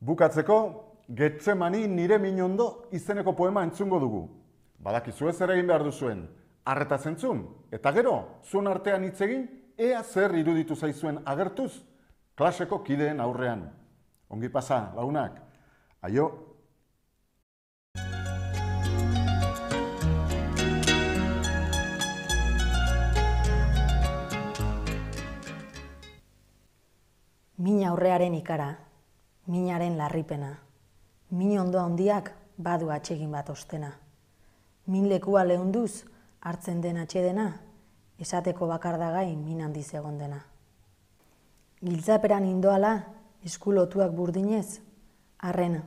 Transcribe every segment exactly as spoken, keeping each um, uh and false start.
Bukatzeko, Getsemani nire min ondo izeneko poema entzungo dugu. Badakizu ez ere egin behar duzuen, arretaz entzun, eta gero, zuen artean hitz egin, ea zer iruditu zaizuen agertuz, klaseko kideen aurrean. Ongi pasa, lagunak. Aio. Min aurrearen ikara, minaren larripena, min ondo handiak badu atsegin bat ostena. Min lekua lehunduz hartzen den atsedena, esateko bakardagai min handiz egon dena. Giltzaperan indoala, eskulotuak burdinez, arren,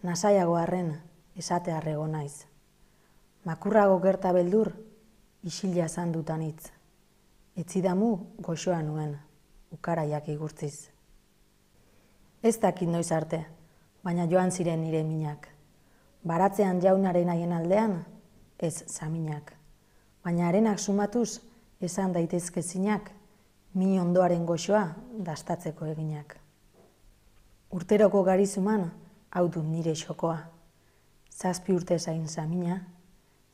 nasaiago arren, esate arrego naiz. Makurrago gerta beldur, isila zandutan hitz. Etzidamu goxoa nuen, ukaraiak igurtziz. Ez dakit noiz arte, baina joan ziren nire minak. Baratzean jaunaren haien aldean, ez zaminak. Baina arenak sumatuz, esan daitezke zinak, min ondoaren goxoa dastatzeko eginak. Urteroko garizuman, hau dut nire xokoa. Zazpi urte zain zamina,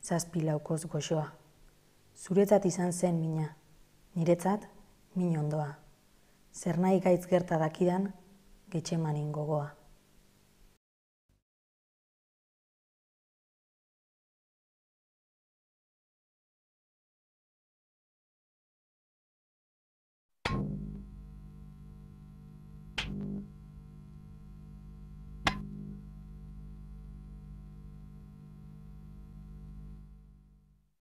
zazpi laukoz goxoa. Zuretzat izan zen mina, niretzat min ondoa. Zer nahi gaitz gerta dakidan, Getsemanin gogoa. Thank you.